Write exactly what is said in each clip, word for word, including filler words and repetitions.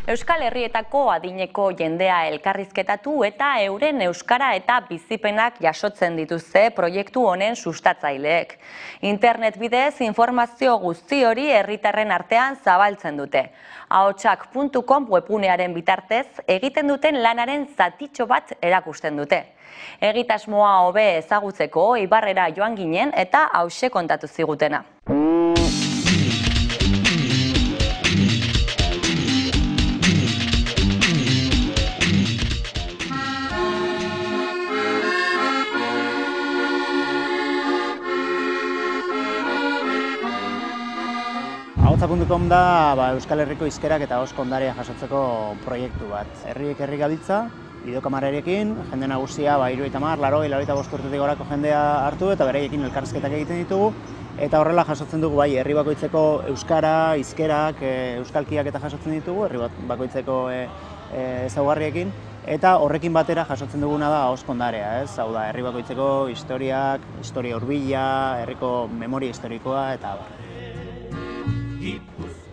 Euskal Herrietako adineko jendea elkarrizketatu eta euren euskara eta bizipenak jasotzen dituzte proiektu honen sustatzaileek. Internet bidez informazio guzti hori herritarren artean zabaltzen dute. ahotsak puntu com webgunearen bitartez egiten duten lanaren zatitxo bat erakusten dute. Egitasmoa hobe ezagutzeko Ibarrera joan ginen eta hauxe kontatu zigutena. ahotsak puntu com da Euskal Herriko hizkerak eta ahozko ondarea jasotzeko proiektu bat. Herriek herri gabiltza, bideokamarekin, jende nagusia hirurogeita hamar, laurogei, laurogeita bost urtetik gorako jendea hartu eta beraiekin elkarrizketak egiten ditugu. Eta horrela jasotzen dugu bai, herri bakoitzeko euskara, hizkerak, euskalkiak eta jasotzen ditugu, herri bakoitzeko ezaugarriekin. Eta horrekin batera jasotzen duguna da ahozko ondarea, ez? Hau da, herri bakoitzeko historiak, historia hurbila, herriko memoria historikoa eta abar.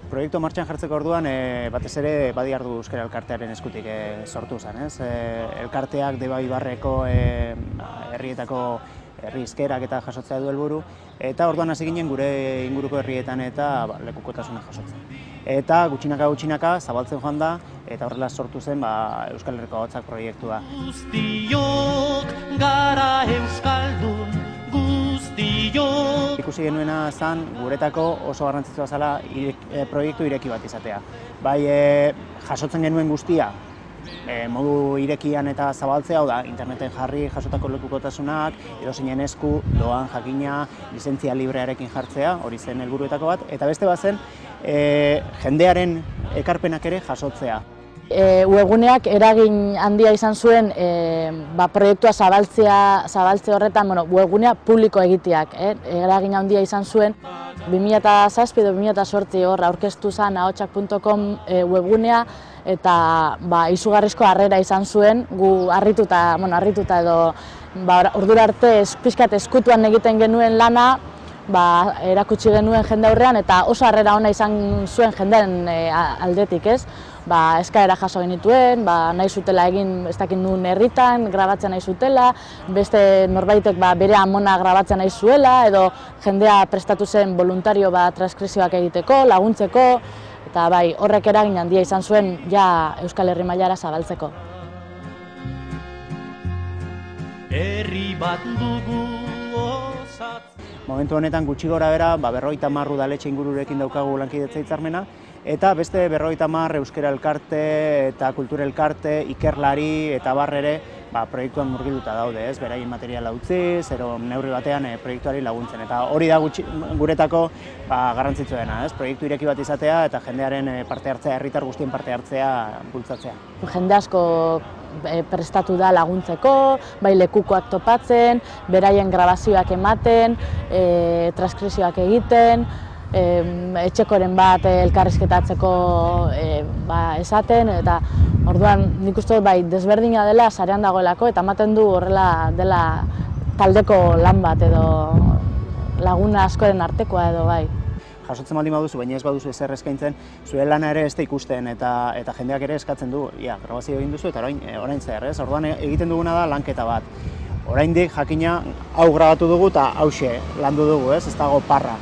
Proiektu martxan jartzeko orduan, e, batez ere Badiardu Euskara Elkartearen eskutik e, sortu zen, ez? E, elkarteak Deba Ibarreko e, herrietako herri hizkerak eta jasotzea du helburu, eta orduan hasi ginen gure inguruko herrietan eta ba, lekukotasuna jasotzen. Eta gutxinaka gutxinaka zabaltzen joan da, eta horrela sortu zen ba, Euskal Herriko Ahotsak proiektua. Guztiok gara euskaldun, guztiok. Ikusi genuena zen guretako oso garrantzitsua zela irek, e, proiektu ireki bat izatea. Bai e, jasotzen genuen guztia, e, modu irekian eta zabaltzea, hau da, interneten jarri jasotako lekukotasunak, edozeinen esku, doan jakina, lizentzia librearekin jartzea, hori zen helburuetako bat, eta beste bat zen, e, jendearen ekarpenak ere jasotzea. E, webguneak eragin handia izan zuen e, ba, proiektua zabaltzea, zabaltze horretan, bueno, webgunea publiko egiteak, eh? eragin handia izan zuen. bi mila zazpi edo bi mila zortzi hor aurkeztu zen ahotsak puntu com e, webgunea eta ba, izugarrizko harrera izan zuen, gu harrituta, bueno, harrituta edo ba, ordura arte pixkat eskutuan egiten genuen lana, ba, erakutsi genuen jende aurrean eta oso harrera ona izan zuen jendearen e, aldetik, ez? Ba, eskaera jaso genituen, ba, nahi zutela egin ez dakit nuen herritan, grabatzen nahi zutela, beste norbaitek ba, bere amona grabatzen nahi zuela, edo jendea prestatu zen voluntario ba, transkripzioak egiteko, laguntzeko, eta bai, horrek eragin handia izan zuen ja Euskal Herri mailara zabaltzeko. Herri bat dugu osat. Momentu honetan gutxi gora bera, ba, berrogeita hamar udaletxe ingururekin daukagu lankidetza hitzarmena, eta beste berrogeita hamar euskara elkarte eta kultura elkarte, ikerlari eta abar ere ba, proiektuan murgilduta daude, ez? Beraien materiala utzi, zero neurri batean e, proiektuari laguntzen. Eta hori da gutxi, guretako ba, garrantzitsua dena, ez? Proiektu ireki bat izatea eta jendearen e, parte hartzea, herritar guztien parte hartzea bultzatzea. Jende asko e, prestatu da laguntzeko, bai lekukoak topatzen, beraien grabazioak ematen, e, transkripzioak egiten, etxekoren bat elkarrizketatzeko e, ba, esaten, eta orduan nik uste bai desberdina dela sarean dagoelako eta ematen du horrela dela taldeko lan bat edo laguna askoren artekoa edo bai. Jasotzen baldin baduzu, baina ez baduzu ezer eskaintzen, zure lana ere ez da ikusten eta, eta jendeak ere eskatzen du, ja, grabazio egin duzu eta orain, orain zer, ez? Orduan egiten duguna da lanketa bat. Oraindik jakina hau grabatu dugu eta hauxe landu dugu, ez? Ez dago parra.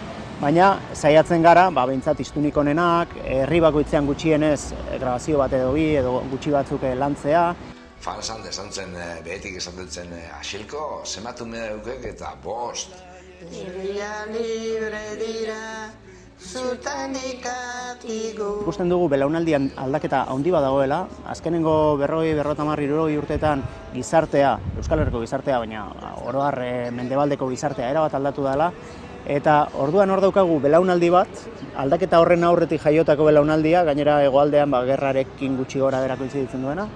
Baina saiatzen gara, ba, behintzat iztunik onenak, herri bakoitzean gutxienez grabazio bat edo bi edo gutxi batzuk lantzea. Fansan esan zen, behetik esan dutzen, asilko, zematu medaukek eta bost. Herria libre dira, zutanikatigu. Ikusten dugu belaunaldian aldaketa handi bat dagoela, azkenengo berrogei, berrogeita hamar, hirurogei urteetan gizartea, Euskal Herriko gizartea, baina oro har mendebaldeko gizartea erabat aldatu dela, eta orduan hor daukagu belaunaldi bat, aldaketa horren aurretik jaiotako belaunaldia, gainera hegoaldean ba, gerrarekin gutxi gora berako ditzen duena,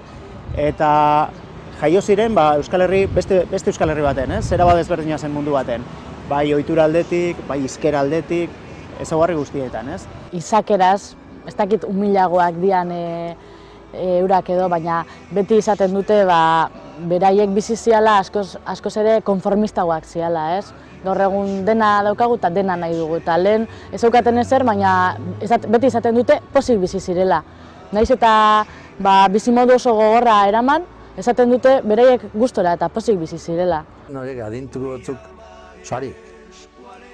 eta jaio ziren ba, Euskal Herri, beste, beste Euskal Herri baten, ez? Zera bat ezberdina zen mundu baten, bai ohitura aldetik, bai hizkera aldetik, ezaugarri guztietan, ez? Izakeraz, ez dakit humilagoak dian e, e, eurak edo, baina beti izaten dute ba, beraiek bizi ziala askoz, askoz ere konformistagoak ziala, ez? Gaur egun dena daukagu eta dena nahi dugu. Eta lehen ez zeukaten ezer, baina beti izaten dute pozik bizi zirela. Naiz eta bizimodu oso gogorra eraman, esaten dute beraiek gustora eta pozik bizi zirela. Horiek adintu batzuk sari,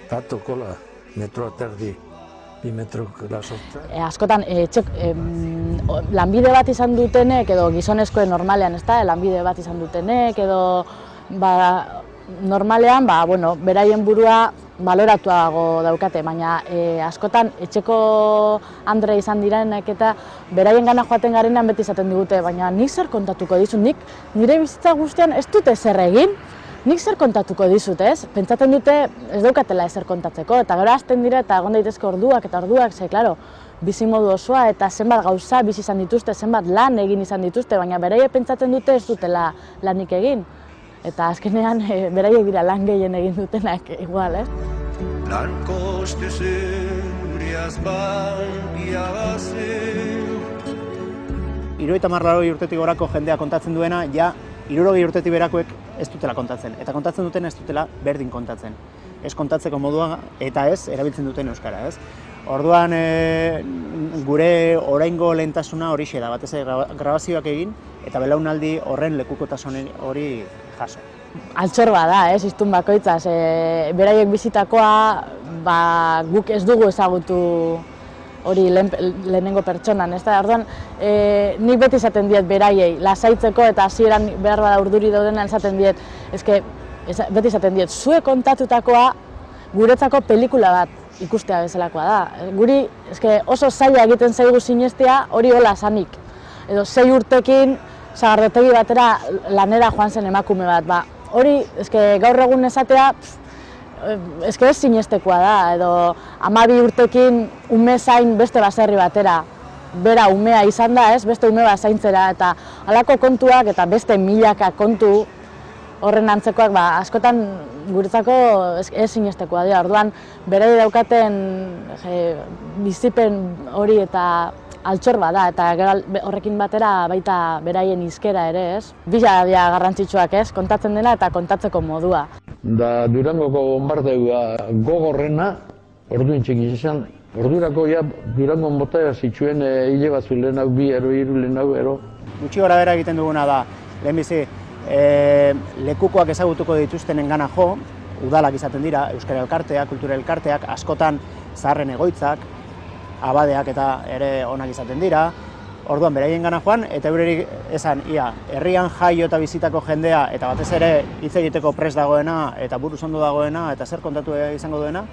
tatu kola, metro terdi, bi metro sortzen. Askotan lanbide bat izan dutenek, edo gizonezkoen normalean, ez da, lanbide bat izan dutenek, edo normalean, beraien burua baloratuago daukate, baina askotan etxeko andre izan direnek eta beraien gana joaten garenean beti izaten digute, baina nik zer kontatuko dizut, nik nire bizitza guztian ez dute zer egin, nik zer kontatuko dizut, ez? Pentsatzen dute ez daukatela ezer kontatzeko, eta gero hasten dira eta egon daitezke orduak eta orduak, ze, klaro, bizimodu osoa eta zenbat gauza bizi izan dituzte, zenbat lan egin izan dituzte, baina beraiek pentsatzen dute ez dutela lanik egin. Eta azkenean beraiek dira lan gehien egin dutenak igual, ez? Lan koste zeuriaz baldia bazen. Hirurogeita hamar laurogei urtetik gorako jendea kontatzen duena, ja hirurogei urtetik berakoek ez dutela kontatzen. Eta kontatzen duten ez dutela berdin kontatzen. Ez kontatzeko modua eta ez erabiltzen duten euskara, ez? Orduan gure oraingo lehentasuna horixe da, batez ere grabazioak egin eta belaunaldi horren lekukotasun hori jaso. Altxor bada, ez, hiztun bakoitzaz. Beraiek bizitakoa guk ez dugu ezagutu hori lehenengo pertsonan, ez da? Orduan, nik beti izaten diet beraiei lasaitzeko eta hasieran behar bada urduri daudenean esaten diet, beti izaten diet, zuek kontatutakoa guretzako pelikula bat ikustea bezalakoa da. Guri oso zaila egiten zaigu sinestea hori hola esanik. Edo sei urtekin sagardotegi batera lanera joan zen emakume bat. Hori gaur egun esatea ez sinestekoa da. Edo hamabi urtekin ume zain beste baserri batera. Bera umea izan da, beste ume bat zaintzera. Eta halako kontuak eta beste milaka kontu horren antzekoak askotan guretzako ez sinestekoa dira. Orduan, berei daukaten bizipen hori eta altxor bada, eta horrekin batera baita beraien hizkera ere, ez? Bila dira garrantzitsuak, ez? Kontatzen dena eta kontatzeko modua. Da Durangoko bonbardeua gogorrena, orduan txekiz izan, ordurako ja Durangon bota zituen hile batzu lehen hau, bi ero, hiru lehen hau, ero. Gutxi gora bera egiten duguna da, lehenbizi, lekukoak ezagutuko dituztenen gana jo, udalak izaten dira, euskara elkarteak, kultura elkarteak, askotan zaharren egoitzak, abadeak eta ere onak izaten dira, orduan beraien gana joan, eta eurerik esan, ia, herrian jaio eta bizitako jendea, eta batez ere hitz egiteko prest dagoena, eta buruz ondo dagoena, eta zer kontatu izango duena,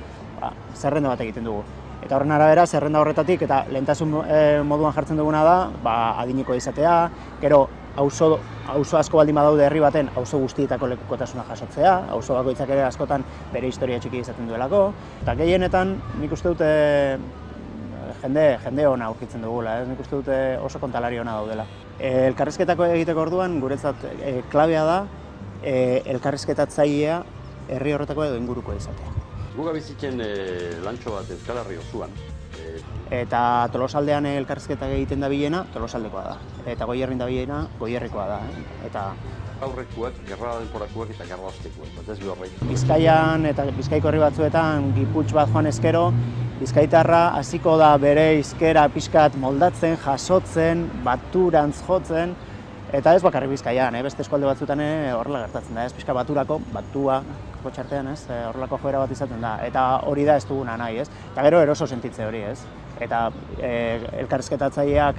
zerrenda bat egiten dugu. Eta horren arabera, zerrenda horretatik, eta lehentasun moduan jartzen duguna da, adineko izatea, gero, auzo asko baldin badaude herri baten, auzo guztietako lekukotasuna jasotzea, auzo bakoitzak ere askotan bere historia txiki izaten duelako, eta gehienetan nik uste dute jende ona aurkitzen dugula, nik uste dute oso kontalari ona daudela. Elkarrizketako egiteko orduan, guretzat klabea da, elkarrizketatzailea herri horretako edo inguruko izatea. Guga bizitzen lantxo bat Euskal Herri osoan. Eta Tolosaldean elkarrizketak egiten dabilena, Tolosaldekoa da. Eta Goierrin dabilena, Goierrikoa da. Eta aurrekoak, gerra denporakoak eta gerra ostekoak, bat ez behorrei. Bizkaian eta Bizkaiko herri batzuetan giputx bat joan ezkero, bizkaitarra hasiko da bere hizkera pixkat moldatzen, jasotzen, baturantz jotzen, eta ez bakarrik Bizkaian, beste eskualde batzuetan horrela gertatzen da, ez pixka baturako, batua, kotxartean, ez, horrelako joera bat izaten da, eta hori da ez duguna nahi, ez, eta gero eroso sentitze hori, ez, eta elkarrizketatzaileak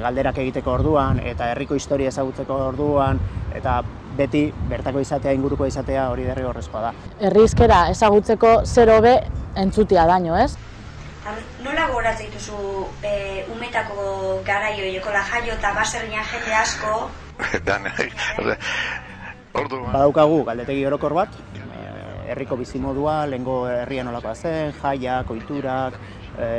galderak egiteko orduan, eta herriko historia ezagutzeko orduan, eta beti bertako izatea, inguruko izatea hori derrigorrezkoa da. Herri hizkera ezagutzeko zer hobe entzutea daño, ez? Nola gogoratzen dituzu umetako garaio, jokola jaio eta baserrian jende asko? Badaukagu galdetegi orokor bat, herriko bizimodua, lehengo herrian nolakoa zen, jaiak, ohiturak,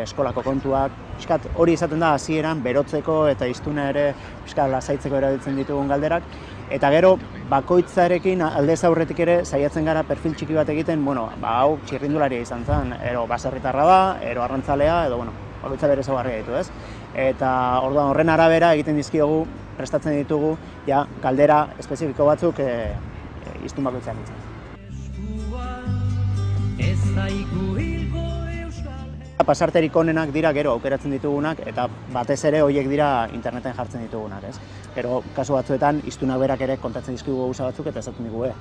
eskolako kontuak, pixkat hori izaten da hasieran berotzeko eta hiztuna ere pixkat lasaitzeko erabiltzen ditugun galderak. Eta gero, bakoitzarekin aldez aurretik ere saiatzen gara perfil txiki bat egiten, bueno, ba hau txirrindularia izan zen, ero baserritarra da, ero arrantzalea, edo bueno, bakoitza bere ezaugarria ditu, ez? Eta orduan horren arabera egiten dizkiogu, prestatzen ditugu, ja, galdera espezifiko batzuk hiztun bakoitzak ditzen. Pasarterik onenak dira gero aukeratzen ditugunak eta batez ere horiek dira interneten jartzen ditugunak, ez? Gero kasu batzuetan hiztunak berak ere kontatzen dizkigu gauza batzuk eta esaten digu, eh,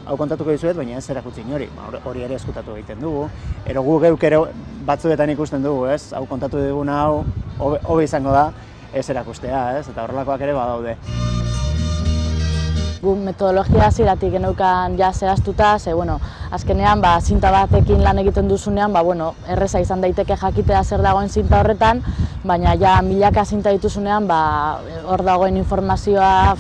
hau kontatuko dizuet, baina ez erakutsi inori, hori ere eskutatu egiten dugu. Ero gu geuk ere batzuetan ikusten dugu, ez? Hau kontatu diguna hau hobe izango da ez erakustea, ez? Eta horrelakoak ere badaude. Gu metodologia hasieratik geneukan ja zehaztuta, ze bueno, azkenean ba zinta batekin lan egiten duzunean, ba bueno, erreza izan daiteke jakitea zer dagoen zinta horretan, baina ja milaka zinta dituzunean, ba hor dagoen informazioa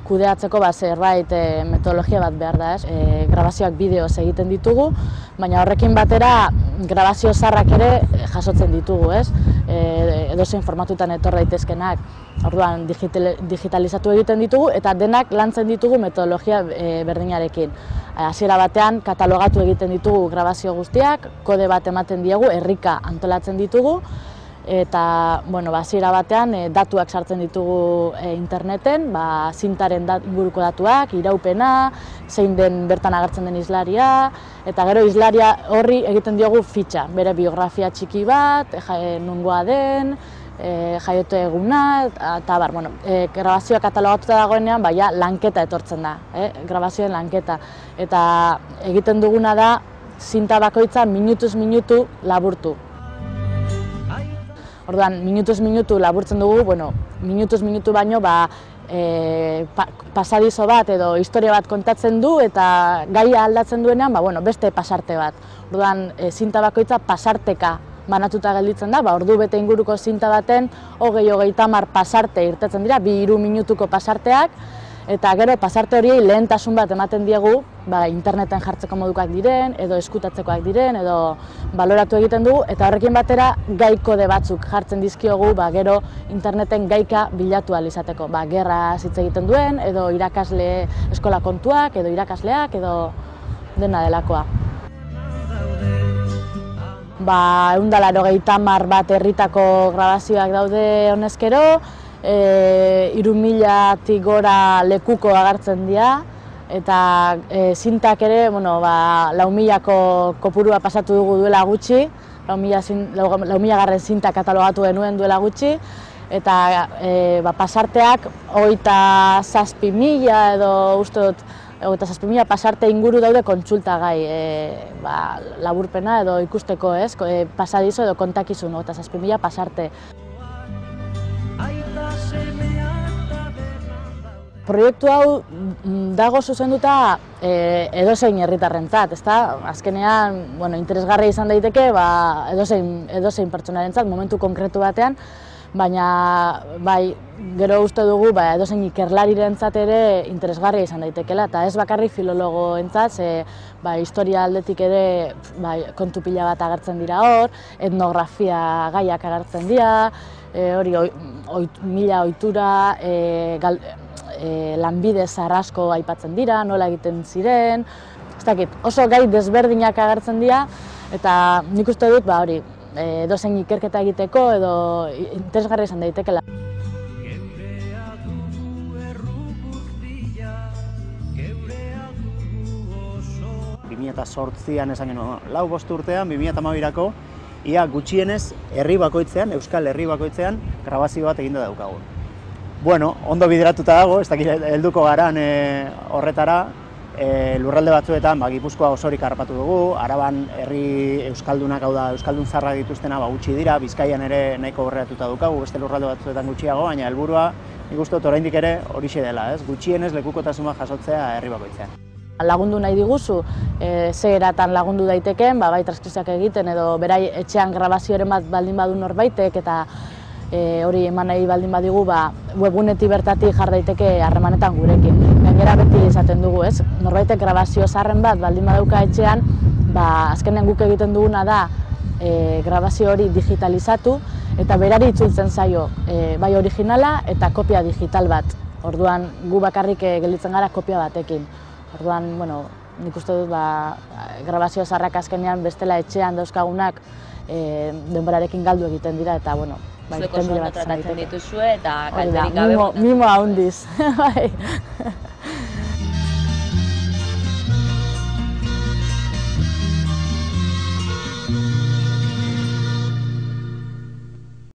kudeatzeko ba zerbait e, metodologia bat behar da, ez? E, grabazioak bideoz egiten ditugu, baina horrekin batera grabazio zaharrak ere jasotzen ditugu, ez? E, edozein formatutan etor daitezkenak. Orduan digital, digitalizatu egiten ditugu eta denak lantzen ditugu metodologia e, berdinarekin. Hasiera batean katalogatu egiten ditugu grabazio guztiak, kode bat ematen diegu, herrika antolatzen ditugu, eta bueno, hasiera batean e, datuak sartzen ditugu e, interneten, ba, zintaren dat, inguruko datuak, iraupena, zein den bertan agertzen den islaria, eta gero islaria horri egiten diogu fitxa, bere biografia txiki bat, e, nungoa den, e, jaiote eguna, eta bar, bueno, e, grabazioa katalogatuta dagoenean, baina lanketa etortzen da, eh? Grabazioen lanketa. Eta egiten duguna da, zinta bakoitza minutuz minutu laburtu. Orduan, minutuz minutu laburtzen dugu, bueno, minutuz minutu baino, ba, e, pa, pasadizo bat edo historia bat kontatzen du eta gaia aldatzen duenean, ba, bueno, beste pasarte bat. Orduan, e, zinta bakoitza pasarteka banatuta gelditzen da, ba, ordu bete inguruko zinta baten, hogei hogeita hamar pasarte irtetzen dira, bi hiru minutuko pasarteak, eta gero pasarte horiei lehentasun bat ematen diegu, ba, interneten jartzeko modukoak diren, edo eskutatzekoak diren, edo baloratu egiten dugu, eta horrekin batera gai kode batzuk jartzen dizkiogu, ba, gero interneten gaika bilatu ahal izateko. Ba, gerra hitz egiten duen, edo irakasle eskola kontuak, edo irakasleak, edo dena delakoa. Ba, ehun eta laurogeita hamar bat herritako grabazioak daude honezkero, e, hiru milatik gora lekuko agertzen dira, eta e, zintak ere, bueno, ba, lau milako kopurua pasatu dugu duela gutxi, lau mila garren zinta katalogatu genuen duela gutxi, eta e, ba, pasarteak hogeita zazpi mila edo uste dut, hogeita zazpi mila pasarte inguru daude kontsultagai, e, ba, laburpena edo ikusteko, ez, e, pasadizo edo kontakizun, hogeita zazpi mila pasarte. Proiektu hau dago zuzenduta e, edozein herritarrentzat, ezta? Azkenean, bueno, interesgarria izan daiteke, ba, edozein, edozein pertsonarentzat, momentu konkretu batean, baina bai, gero uste dugu ba, edozein ikerlarirentzat ere interesgarria izan daitekeela, eta ez bakarrik filologoentzat, ze ba, historia aldetik ere ba, kontu pila bat agertzen dira hor, etnografia gaiak agertzen dira, e, hori oit, mila ohitura, e, gal, e, lanbide zarrasko aipatzen dira, nola egiten ziren, ez dakit, oso gai desberdinak agertzen dira, eta nik uste dut, ba, hori, edozein ikerketa egiteko edo interesgarria izan daitekeela. bi mila zortzian esan genuen, lau bost urtean, bi mila hamabirako, ia gutxienez herri bakoitzean, euskal herri bakoitzean, grabazio bat eginda daukagu. Bueno, ondo bideratuta dago, ez dakit helduko garan e, horretara, E, lurralde batzuetan ba, Gipuzkoa osorik harrapatu dugu, Araban herri euskaldunak, hau da, euskaldun zarrak dituztena ba, gutxi dira, Bizkaian ere nahiko aurreratuta daukagu, beste lurralde batzuetan gutxiago, baina helburua nik uste dut oraindik ere horixe dela, ez? Gutxienez lekukotasuna jasotzea herri bakoitzean. Lagundu nahi diguzu, e, ze eratan lagundu daiteken, ba, bai transkripzioak egiten edo berai etxean grabazioren bat baldin badu norbaitek eta E, hori eman nahi baldin badigu, ba, webgunetik bertatik jar daiteke harremanetan gurekin. Gainera beti izaten dugu, ez? Norbaitek grabazio zaharren bat baldin badauka etxean, ba, azkenean guk egiten duguna da e, grabazio hori digitalizatu eta berari itzultzen zaio, e, bai originala eta kopia digital bat. Orduan gu bakarrik e, gelditzen gara kopia batekin. Orduan, bueno, nik uste dut ba, grabazio zaharrak azkenean bestela etxean dauzkagunak e, denborarekin galdu egiten dira eta, bueno, zuek oso ondo tratatzen dituzue eta kalterik gabe. Mimo handiz.